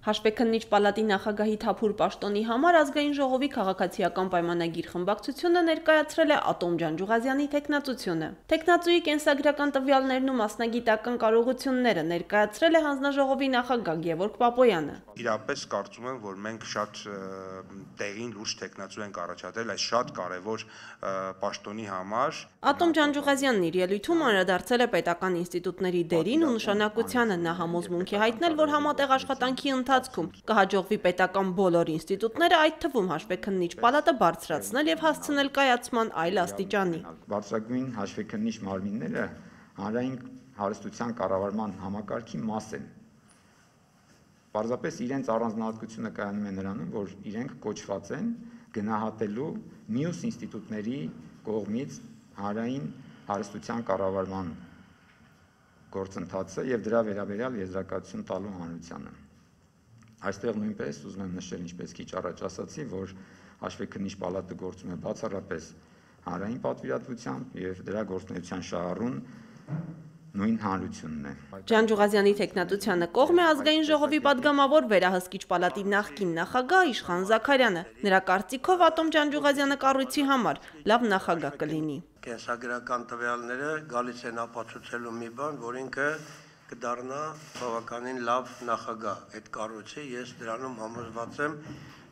Հաշվեկննիչ պալատի նախագահի Թափուր Պաշտոնի համար ազգային ժողովի քաղաքացիական պայմանագիր խմբակցությունը ներկայացրել է Ատոմ Ջանջուղազյանի թեկնածությունը։ Թեկնածուի կենսագրական տվյալներն ու մասնագիտական կարողությունները ներկայացրել է հանձնաժողովի նախագահ Գևորգ Պապոյանը։ Իրապես կարծում եմ, որ մենք շատ տեղին լուրջ թեկնածու ենք առաջադրել այս շատ կարևոր պաշտոնի համար։ Ատոմ Ջանջուղազյանն իր ելույթում անդրադարձել է պետական ինստիտուտների դերին ու նշանակությանը։ Նա համոզմունք է հայտնել, որ համատեղ աշխատանքի ընթացքում կհաջողվի պետական բոլոր ինստիտուտները, այդ թվում հաշվեկննիչ պալատը բարձրացնել եւ հասցնել կայացման այլ աստիճանի։ Բարձրագույն հաշվեկննիչ մարմինները հանրային հարստության կառավարման համակարգի մաս են։ Պարզապես իրենց առանձնահատկությունը կայանում է նրանում, որ իրենք կոչված են գնահատելու մյուս ինստիտուտների կողմից հանրային հարստության կառավարման գործընթացը եւ դրա վերաբերյալ եզրակացություն տալու հանրությանը։ Այստեղ նույնպես ուզում եմ նշել, ինչպես քիչ առաջ ասացի, որ հաշվեկննիչ պալատը գործում է բացառապես հանրային պատվիրատվությամբ եւ դրա գործունեության շահառուն նույն հանրությունն է։ Ջանջուղազյանի թեկնածությանը կողմ է ազգային ժողովի падգամավոր վերահսկիչ պալատի նախկին նախագահ Իշխան Զաքարյանը։ Նրա կարծիքով Ատոմ Ջանջուղազյանը կառույցի համար լավ նախագահ կլինի։ Կենսագրական տվյալները գալիս են ապացուցելու մի բան, որ ինքը կդառնա բավականին լավ նախագահ այդ կառույցի, ես դրանում համոզված եմ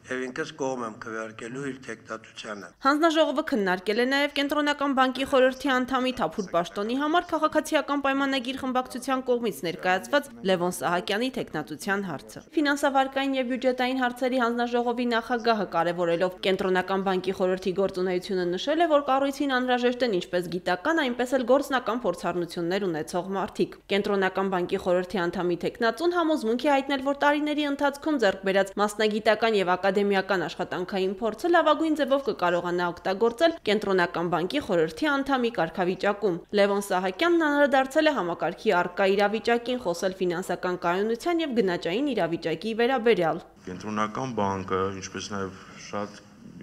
եւ ինքս կողմ եմ քվեարկելու իր թեկնածությանը։ Հանձնաժողովը քննարկել է նաեւ Կենտրոնական բանկի խորհրդի անդամի Թափուր Պաշտոնի համար քաղաքացիական պայմանագիր խմբակցության կողմից ներկայացված Լևոն Սահակյանի թեկնածության հարցը։ Ֆինանսավարկային եւ բյուջետային հարցերի հանձնաժողովի նախագահը կարևորելով Կենտրոնական բանկի խորհրդի գործունեությունը նշել է, որ կառույցին անհրաժեշտ են ինչպես գիտական, այնպես էլ գործնական փորձառնություններ ունեցող մարդիկ։ Կենտրոնական բանկի խորհրդի անդամի թեկնածուն համոզմունք է հայտնել, որ տարիների ընթացքում ձեռք բերած մասնագիտական եւ ակադեմիական աշխատանքային փորձը լավագույն ձևով կկարողանա օգտագործել Կենտրոնական բանկի խորհրդի անդամի կարգավիճակում։ Լևոն Սահակյանն անդրադարձել է համակարգի առկա իրավիճակին, խոսել ֆինանսական կայունության եւ գնաճային իրավիճակի վերաբերյալ։ Կենտրոնական բանկը, ինչպես նաեւ շատ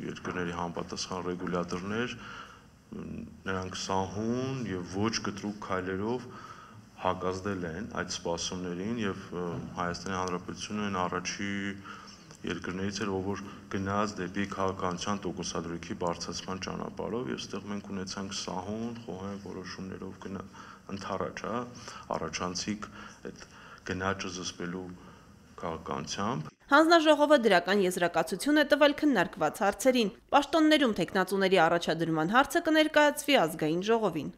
երկրների համապատասխան ռեգուլյատորներ, նրանք սահուն եւ ոչ կտրուկ քայլերով հակազդել են այդ սպասումներին եւ Հայաստանի Հանրապետությունը այն առաջի երկրներից էր, որ գնաց դեպի քաղաքականության տոկոսադրույքի բարձրացման ճանապարհով եւ այստեղ մենք ունեցանք սահուն, խոհեմ որոշումներով ընդառաջ, առաջանցիկ այդ գնաճը զսպելու քաղաքականությամբ։ Հանձնաժողովը դրական եզրակացություն է տվել քննարկված հարցերին։ Պաշտոններում թեկնածուների առաջադրման հարցը կներկայացվի ազգային ժողովին։